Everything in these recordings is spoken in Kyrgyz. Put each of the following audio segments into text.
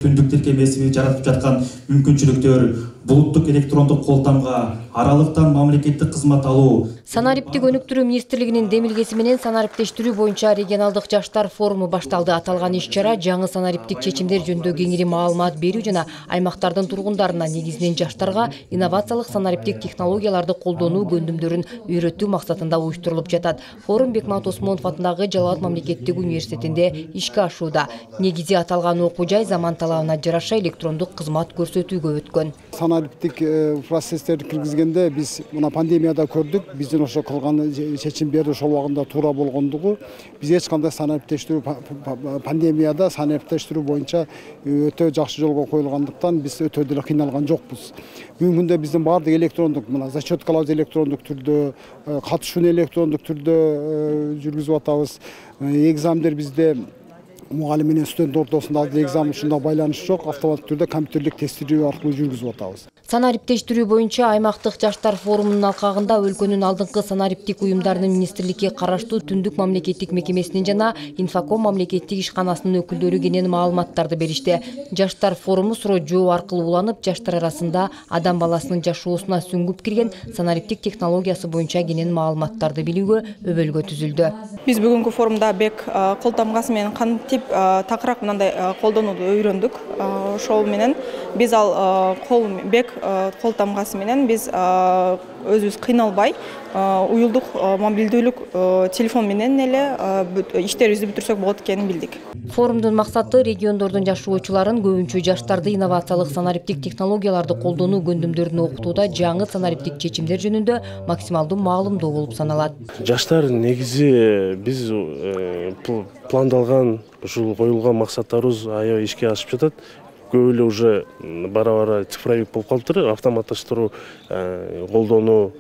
түндүк тиркемеси жаратып жаткан мүмкүнчүлүктөр, булуттук электрондук колтамга аралыктан мамлекеттик кызмат алуу. Санариптик өнүктүрүү министрлигинин демилгеси менен санариптештирүү боюнча регионалдык жаштар форуму башталды. Аталган иш-чара жаңы санариптик чечимдер жөнүндө кеңири маалымат берүү жана аймактардын тургундарына, негизинен жаштарга инновациялык санариптик технологияларды колдонуу көндүмдөрүн үйрөтүү максатында уюштурулуп жатат. Форум Бекмамбет Осмонов атындагы Жалал абад мамлекеттик университетинде ишке ашууда. Негизи аталган окуу жай заман талабына жараша электрондук кызмат көрсөтүүгө өткөн. Санариптик процесстерди киргизгенде биз мына пандемияда көрдүк. Биздин ошо кылган чечимдер ошол убагында туура болгондугу. Биз эч кандай санариптештирүү пандемияда санариптештирүү боюнча өтө жакшы жолго коюлгандыктан биз өтө деле кыйналган жокпуз. Бүгүнкү күндө биздин баардык электрондук, мына зачеткаларды электрондук түрдө, катышууну электрондук түрдө жүргүзүп атабыз. Экзамдер бизде мугалим менен студент ортосунда экзамен ушунда байланыш жок, автоматтык түрдө компьютерлик тестирүү аркылуу жүргүзүп атабыз. Санариптештирүү боюнча аймактык жаштар форумунун алкагында өлкөнүн алдыңкы санариптик уюмдарынын министрликке караштуу Түндүк мамлекеттик мекемесинин жана Инфоком мамлекеттик ишканасынын өкүлдөрү кенен маалыматтарды беришти. Жаштар форуму суроо жооп аркылуу уланып, жаштар арасында адам баласынын жашоосуна сүңгүп кирген санариптик технологиясы боюнча кенен маалыматтарды билүүгө өбөлгө түзүлдү. Биз бүгүнкү форумда бек кол тамгасы менен кантип такыраак мындай колдонууду өйрөндүк. Ошол менен биз ал бек кол тамгасы менен биз өзүбүз кыйналбай уюлдук мобилдүүлүк телефон менен эле иштерибизди бүтүрсөк болот экенин билдик. Форумдун максаты региондордун жашоочуларын, көбүнчө жаштарды инновациялык санариптик технологияларды колдонуу көндүмдөрүн окутууда жаңы санариптик чечимдер жөнүндө максималдуу маалымдоо болуп саналат. Жаштар негизи биз пландалган ушул коюлган максаттарыбыз аябай ишке ашып жатат. Көп эле уже бара-бара цифровик болуп калыптыр. Автоматташтыруу колдонуу,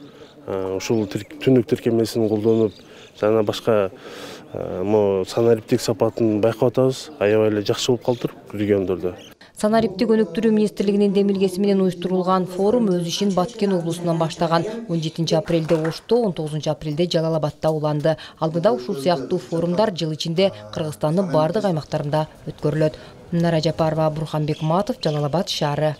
ушул түндүк тиркемесин колдонуп, жана башка санариптик сапатын байкап атабыз. Аябай эле жакшы болуп калыптыр региондордо. Санариптик өнүктүрүү министрлигинин демилгеси менен уюштурулган форум өз ишин Баткен облусунан баштаган. 17 апрелде Ошто, 19 апрелде Жалал Абадта уланды. Алдыда ушул сыяктуу форумдар жыл ичинде Кыргызстандын бардык аймактарында өткөрүлөт. Нара Жапарова, Бурхан Бекматов, Жалал Абад шаары.